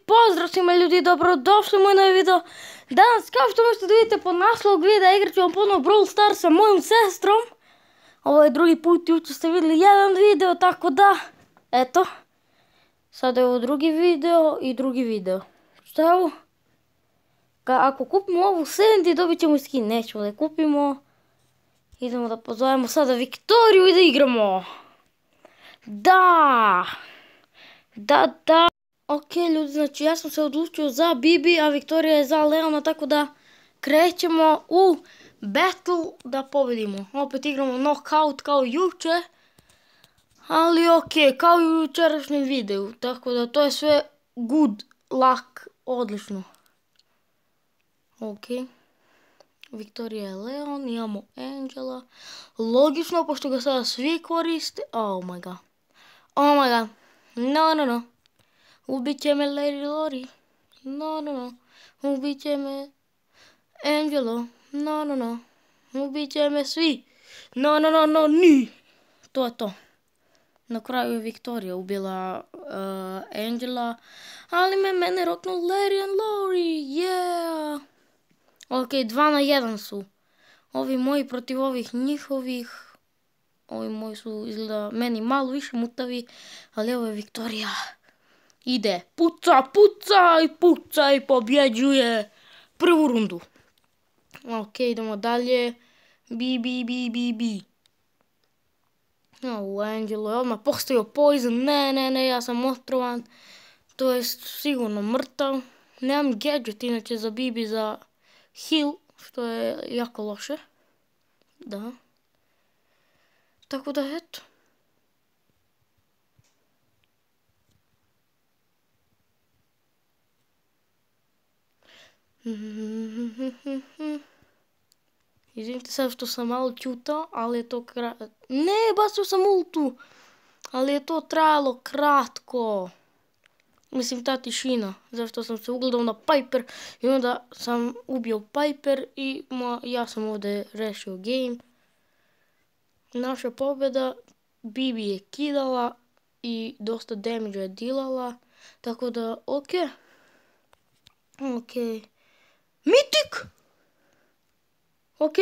Pozdrav svima ljudi, dobrodošli u moj novi video. Danas, kao što možete da vidite po naslovu videa, igrat ću vam ponovno Brawl Stars sa mojom sestrom. Ovo je drugi put, jučer ste vidjeli jedan video, tako da, eto. Sada je ovo drugi video i drugi video. Šta je ovo? Ako kupimo ovu Sandy, dobit ćemo skin, nećemo da je kupimo. Idemo da pozovemo sada Viktoriju i da igramo. Da. Ok ljudi, znači ja sam se odlučio za Bibi, a Viktorija je za Leona, tako da krećemo u battle da pobedimo. Opet igramo knockout kao juče, ali ok, kao i u jučerašnjem videu, tako da to je sve good luck, odlično. Ok, Viktorija je Leon, imamo Angela, logično pošto ga sada svi koriste, oh my god, no. Ubit će me Lady Lori, no. Ubit će me Angelo, no. Ubit će me svi, no, ni. To je to. Na kraju je Viktorija ubila Angela, ali mene roknu Larry and Lori, yeah. Ok, 2-1 su. Ovi moji protiv ovih njihovih. Ovi moji su izgleda meni malo više mutavi, ali ovo je Viktorija. Ide, puca i pobjeđuje prvu rundu. Ok, idemo dalje. Bi. O, Angelo je odmah postavio poison. Ne, ja sam otrovan. To je sigurno mrtav. Nemam gadget inače za Bibi za heal, što je jako loše. Da. Tako da, eto. Izvinite sad što sam malo čutao, ali je to Ne, bacio sam ultu, ali je to trajalo kratko. Mislim, ta tišina, zašto sam se ugledao na Piper i onda sam ubio Piper i ja sam ovdje rešio game. Naša pobjeda, Bibi je kidala i dosta damage je dilala, tako da ok. Mitik! Ok.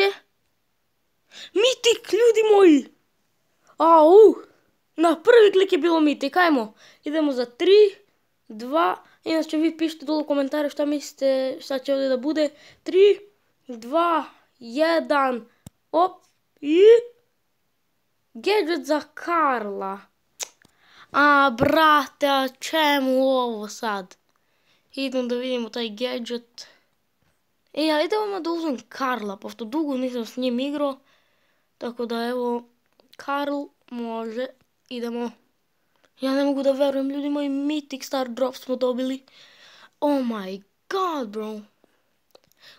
Mitik, ljudi moji! Na prvi klik je bilo mitik, ajmo. Idemo za 3, 2, inače vi pišite dole u komentare šta mislite, šta će ovdje da bude. 3, 2, 1, op, i... Gadget za Karla. Brate, a čemu ovo sad? Idem da vidimo taj gadget. Ali idemo da uzmem Karla, pošto dugo nisam s njim igrao. Tako da evo, Karl može, idemo. Ja ne mogu da verujem, ljudi moji, Mythic Star Drop smo dobili. Oh my god, bro.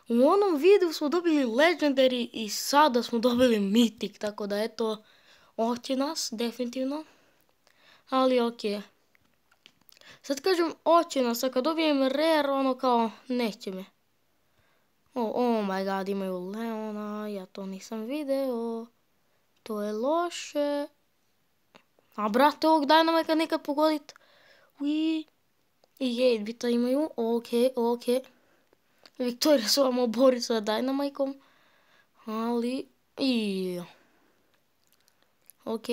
U onom videu smo dobili Legendary i sada smo dobili Mythic, tako da eto, oće nas, definitivno. Ali okej. Sad kažem oće nas, a kad dobijem rare, ono kao, neće me. Oh my god, imaju Leona, ja to nisam video. To je loše. A brate, ovog Dynamika nikad pogodit. I 8-bita imaju, ok. Viktorija se vam obori sa Dynamikom. Ali, ok.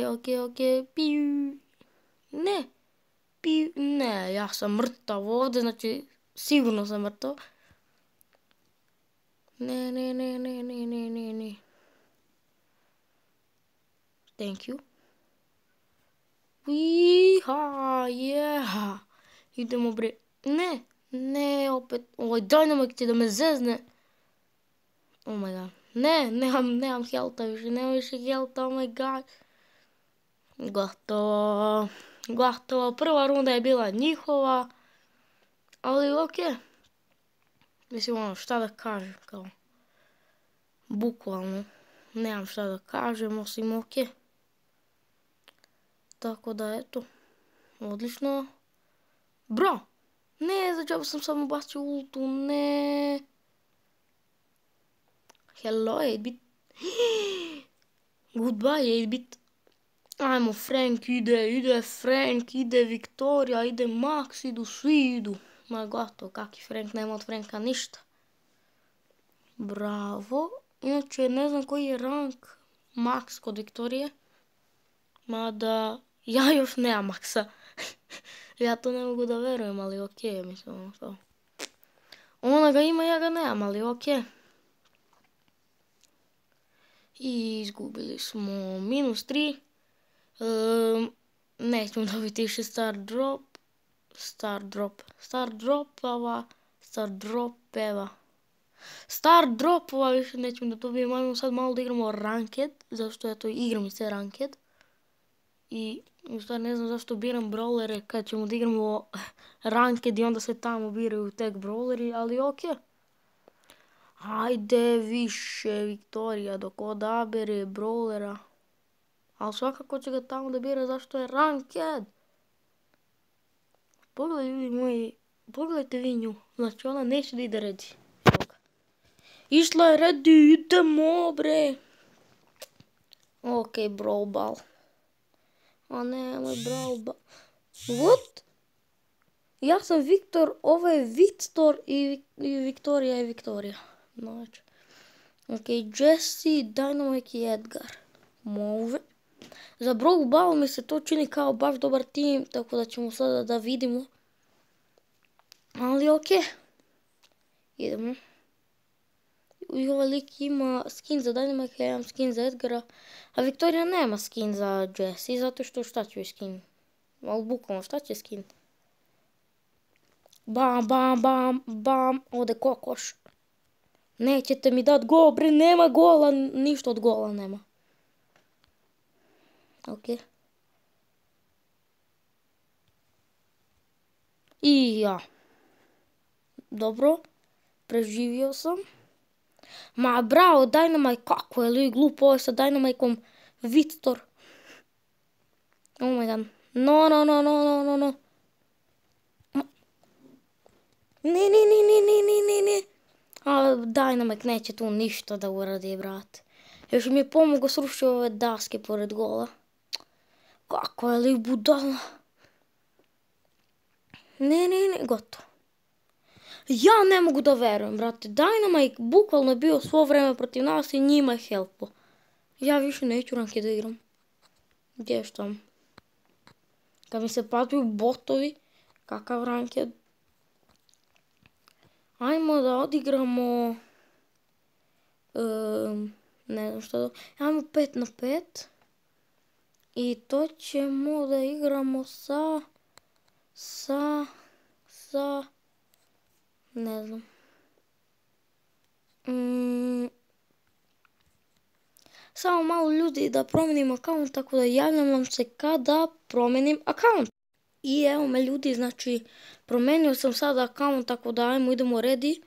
Ne, ja sam mrtav ovdje, znači sigurno sam mrtav. Ne. Thank you. Yeah. Idemo bre. Ne, opet. Ovaj Dynamik će da me zezne. Oh my god. Ne, nemam healtha više, nemam više healtha, oh my god. Gotovo. Prva runda je bila njihova. Ali ok. Mislim, ono, šta da kažem, kao. Bukvalno. Nemam šta da kažem, osim ok. Tako da, eto. Odlično. Bro! Ne, za džabu sam samo bacio ultu, ne. Hello, 8-bit. Goodbye, 8-bit. Ajmo, Frank ide Frank, ide Viktorija, ide Max, idu svi idu. Ma gotovo, kaki Frank, nema od Franka ništa. Bravo. Inače, ne znam koji je rank max kod Viktorije. Mada, ja još nemam maksa. Ja to ne mogu da verujem, ali okej, mislim to. Ona ga ima, ja ga nemam, ali okej. I izgubili smo -3. Nećemo dobiti više star dropova više nećemo da dobijemo. Ajmo sad malo da igramo ranked, zašto ja to igram se ranked. I u stvari ne znam zašto biram brawlere kad ćemo da igramo ranked i onda se tamo biraju tek brawleri, ali okej. Ajde više Viktorija dok odabere brawlera. Ali svakako će ga tamo da bira zašto je ranked. Pogledaj ljudi moji, pogledajte vi nju. Znači ona neće da ide ready. Išla je ready, idemo bre. Okej, brawl ball. A ne, moj brawl ball. What? Ja sam Viktor, ovo je Victor i Viktorija je Viktorija. Znači. Okej, Jesse, Dynamite i Edgar. Može. Za brawl ball mi se to čini kao baš dobar tim, tako da ćemo sada da vidimo. Ali okej. Idemo. I ovaj lik ima skin za Dynamite, ja imam skin za Edgara. A Viktorija nema skin za Jesse, zato što šta će joj skin? Ali bukvalno šta će skin? Bam, bam, bam, bam, ode kokoš. Nećete mi dat gol, bre, nema gola, ništa od gola nema. Okej. I ja. Dobro, preživio sam. Ma bravo, Dynamite, kako je li glupo ovo sa Dynamite-om Victor. Oh my god. No. Ne. A Dynamite neće tu ništa da uradi, brate. Još mi je pomogao srušio ove daske pored gola. Kako je li budala. Ne, gotovo. Ja ne mogu da verujem, brate. Dynamite bukvalno je bio svo vreme protiv nas i njima je helpo. Ja više neću ranked da igram. Gdje što tam? Kad mi se padaju botovi, kakav ranked. Ajmo da odigramo... ne znam što da... Ajmo 5 na 5. I to ćemo da igramo sa... Ne znam. Samo malo ljudi da promijenim akaunt, tako da javljam vam se kada promijenim akaunt. I evo me ljudi, znači promijenio sam sada akaunt, tako da ajmo idemo ready.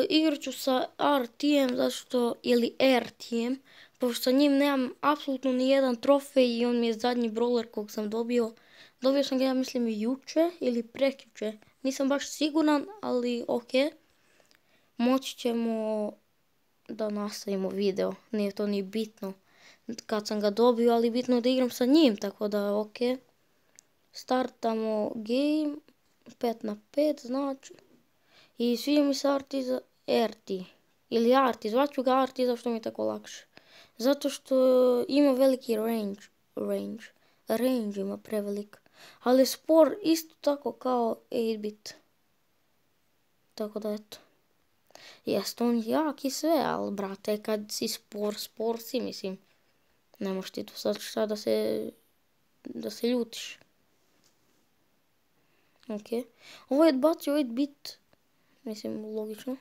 Igrat ću sa RTM, zašto, ili RTM, pošto sa njim nemam apsolutno ni jedan trofej i on mi je zadnji brawler kog sam dobio. Dobio sam ga, ja mislim, juče ili prekjuče. Nisam baš siguran, ali okej. Moći ćemo da nastavimo video. Nije to ni bitno kad sam ga dobio, ali bitno je da igram sa njim, tako da okej. Startamo game, 5 na 5 znači. I sviđa mi se RT za RT. Ili RT, zvaću ga RT zašto mi je tako lakše. Zato što ima veliki range. Range ima prevelik. Ali spor isto tako kao 8-bit. Tako da eto. Jest on jak i sve, ali brate kad si spor si, mislim. Ne možeš ti tu sad šta da se ljutiš. Okej. Ovo je odbacio 8-bit. Mislim, logično.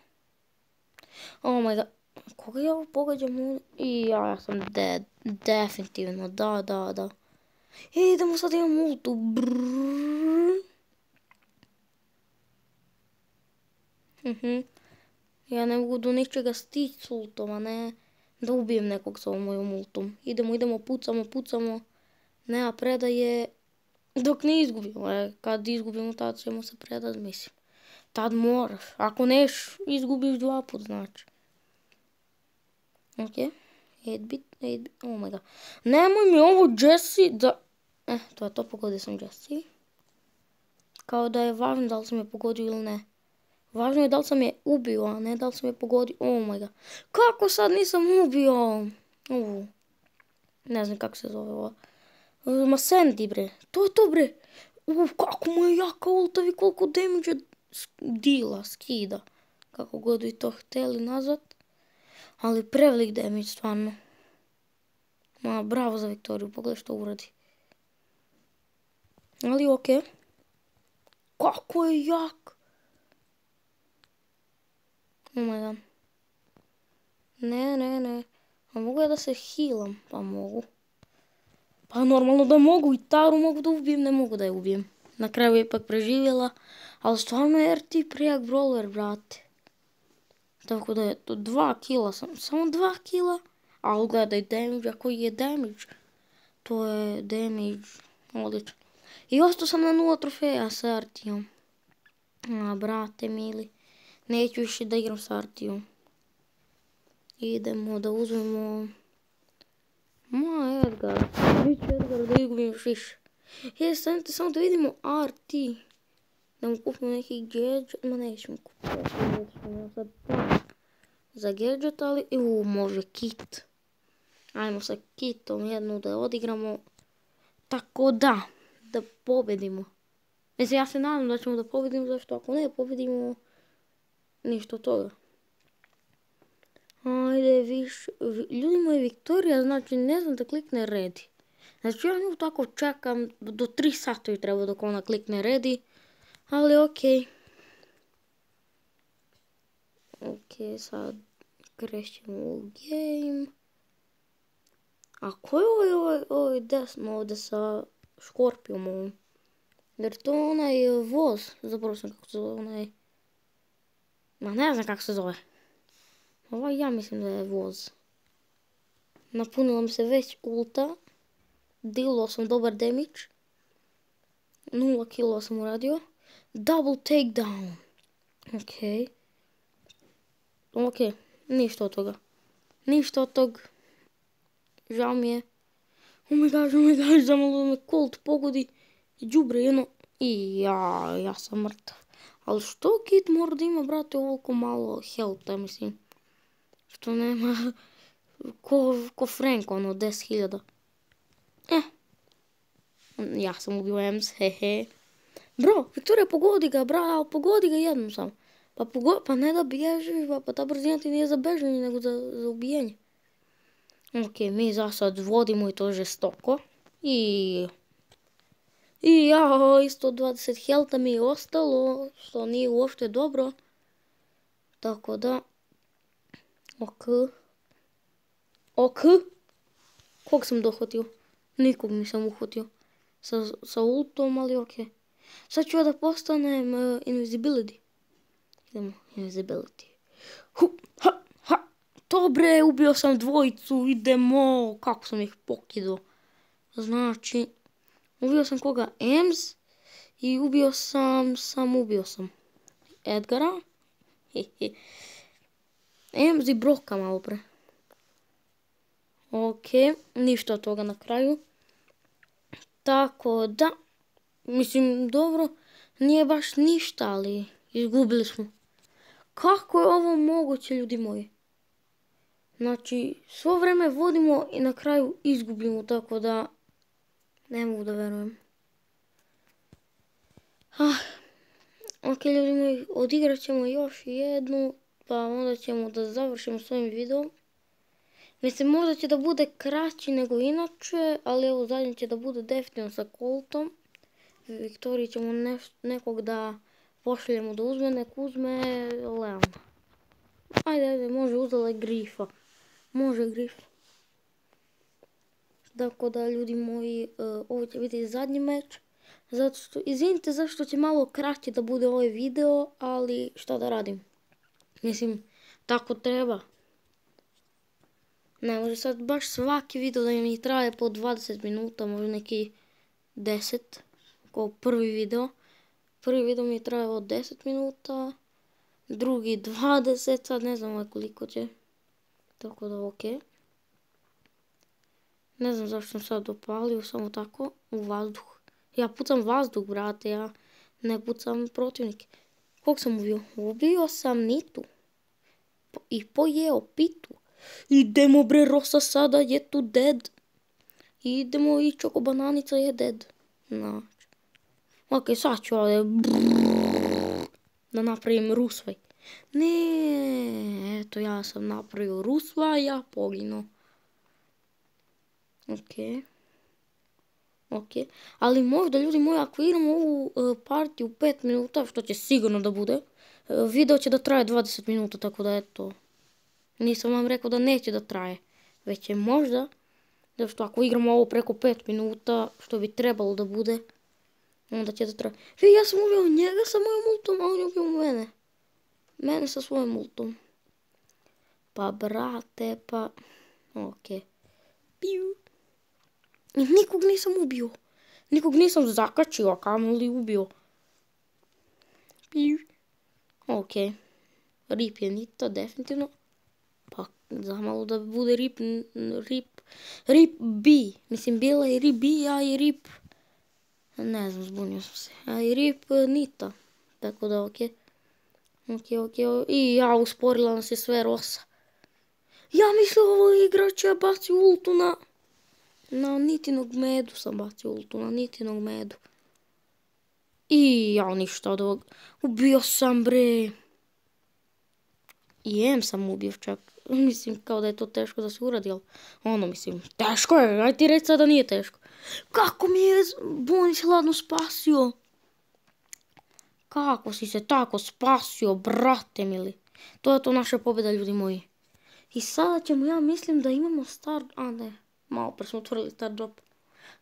Oh my god. Koga ja ovo pogađam ovdje? I ja sam dead. Definitivno, da. Idemo sad, imam ultu. Ja ne mogu do ničega stići s ultom, a ne da ubijem nekog sa ovom mojom ultom. Idemo, pucamo. Nema predaje dok ne izgubimo. Kad izgubimo, tad ćemo se predati, mislim. Tad moraš. Ako neš, izgubiš 2 put, znači. Okej. 8-bit. Oh my god. Nemoj mi ovo Jesse da... to je to, pogodio sam Jesse. kao da je važno da li sam je pogodio ili ne. Važno je da li sam je ubio, a ne da li sam je pogodio. Oh my god. Kako sad nisam ubio? Ne znam kako se zove ovo. Ma Sandy bre. To je to bre. Kako mu je jaka ulta i koliko damage dila, skida. Kako god vi to htjeli nazvat. Ali prevelik damage stvarno. Ma bravo za Viktoriju, pogledaj što uradi. Ali okej. Kako je jak. Oh my god. Ne. A mogu ja da se healam? Pa mogu. Pa normalno da mogu, i Taru mogu da ubijem, ne mogu da je ubijem. Na kraju je ipak preživjela, ali stvarno je RT prijak brawler, brate. Tako da je to 2 kila, samo 2 kila. Ali gledaj damage, a koji je damage? To je damage, odlično. I ostao sam na 0 trofeja sa RT-om. A, brate mili, neću više da igram sa RT-om. Idemo da uzmemo... Ma, Edgar. Neću Edgar da izgubim još više. Stanite samo da vidimo RT. Da mu kupimo neki gadget. Ma nećemo kupiti. Sad za gadget, ali... može kit. Ajmo sa kitom jednu da odigramo. Tako da pobedimo. Mislim, ja se nadam da ćemo da pobedimo, zašto ako ne pobedimo, ništa od toga. Ajde, više, ljudi moji, Viktorija, znači ne znam da klikne ready. Znači ja nju tako čekam, do 3 sata ju treba dok ona klikne ready, ali okej. Okej, sad krećemo u game. A ko je ovaj desno ovdje sa škorpijom ovom? Jer to onaj voz, zapravo sam kako se zove onaj... Ma ne znam kako se zove. Ovaj ja mislim da je voz. Napunila mi se već ulta. Dilao sam dobar damage. 0 kilo sam uradio. Double takedown. Okej. Ništa od toga. Ništa od tog. Žao mi je. Oh my gosh, zamalo me Colt pogodi. I đubre jedno. I ja sam mrtav. Ali što kit mora da ima, brate, ovoliko malo healtha, mislim. Što nema... Ko Frank, ono, 10.000. Ja sam ubio Ems, hehe. Bro, Viktorija, pogodi ga, ali pogodi ga jednom samo. Pa ne da bježiš, pa ta brzina ti nije za bežanje, nego za ubijenje. Okej, mi za sad vodimo i to žestoko. I ja, isto 20 healtha mi je ostalo, što nije uopšte dobro. Tako da... Ok. Kog sam dohvatio? Nikog nisam uhvatio. Sa ultom, ali okej. Sad ću ja da postanem invisibility. Idemo, invisibility. Dobre, ubio sam dvojicu, idemo. Kako sam ih pokidao. Znači, ubio sam koga? Ems. I ubio sam Edgara. Ems i Broka malo pre. Okej, ništa od toga na kraju. Tako da, mislim, dobro, nije baš ništa, ali izgubili smo. Kako je ovo moguće, ljudi moji? Znači, svo vreme vodimo i na kraju izgubimo, tako da ne mogu da verujem. Okej, ljudi moji, odigrat ćemo još jednu, pa onda ćemo da završimo s ovim videom. Mislim, možda će da bude kraći nego inače, ali evo zadnji će da bude definitivno sa Coltom. Viktoriji ćemo nekog da pošaljemo da uzme, nek uzme Leona. Ajde, može, uzela je Grifa. Može Grif. Tako da, ljudi moji, ovo će biti zadnji meč. Zato što, izvinite zašto će malo kraće da bude ovaj video, ali šta da radim? Mislim, tako treba. Ne može sad baš svaki video da mi traje po 20 minuta, možda neki 10, kao prvi video. Prvi video mi je trajao 10 minuta, drugi 20, sad ne znam koliko će. Tako da okej. Ne znam zašto sam sad dopalio, samo tako, u vazduh. Ja pucam vazduh, brate, ja Ne pucam protivnike. Kog sam ubio? Ubio sam Nitu. I pojeo Pitu. Idemo bre, Rosa sada je tu dead. Idemo i Čoko Bananica je dead. Znači. Ok, sad ću ovdje da napravim rusvaj. Ne, eto ja sam napravio rusvaj, ja poginuo. Ok. Ali možda, ljudi moji, ako igramo ovu partiju 5 minuta, što će sigurno da bude, video će da traje 20 minuta, tako da eto. Nisam vam rekao da neće da traje, već je možda, zato što ako igramo ovo preko 5 minuta, što bi trebalo da bude, onda će da traje. Ja sam ubio njega sa mojom ultom, a on je ubio mene. Mene sa svojom ultom. Pa brate, pa... Ok. Piu. I nikog nisam ubio. Nikog nisam zakačio, a kamoli ubio. Piu. Ok. Rip je Nita, definitivno. Pa zamalo da bude Rip B. Mislim, bila je Rip B, a i Rip... Ne znam, zbunio sam se. A i Rip Nita. Tako da, ok. I ja, usporila nas je sve Rosa. Ja mislim ovo igrač je bacio ultu na Nitinog medu sam bacio ultu, na Nitinog medu. I ja ništa od ovog. Ubio sam bre. I M sam ubio čak. Mislim kao da je to teško da se uradi, ali ono mislim, teško je, aj ti reći sada nije teško. Kako mi je Bonis hladno spasio? Kako si se tako spasio, brate mili? To je to naša pobjeda, ljudi moji. I sada ćemo, ja mislim da imamo malo pre smo otvorili star drop.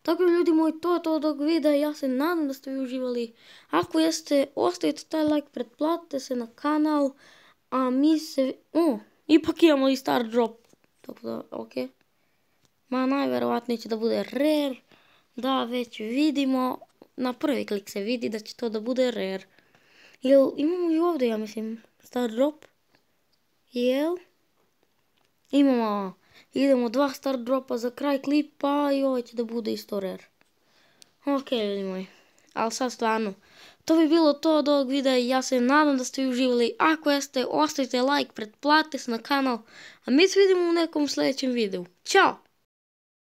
Tako ljudi moji, to je to od ovog videa, ja se nadam da ste vi uživali. Ako jeste, ostavite taj like, pretplatite se na kanal, a mi se, ipak imamo i star drop. Tako da, ok. Ma najverovatnije će da bude rare, da već vidimo, na prvi klik se vidi da će to da bude rare. Jel imamo i ovdje, ja mislim, star drop? Jel? Imamo, idemo 2 star dropa za kraj klipa i ovo će da bude isto rare. Ok, ljudi moji, ali sad stvarno, to bi bilo to od ovog videa i ja se nadam da ste vi uživali. Ako jeste, ostavite like, pretplatite se na kanal, a mi se vidimo u nekom sljedećem videu. Ćao!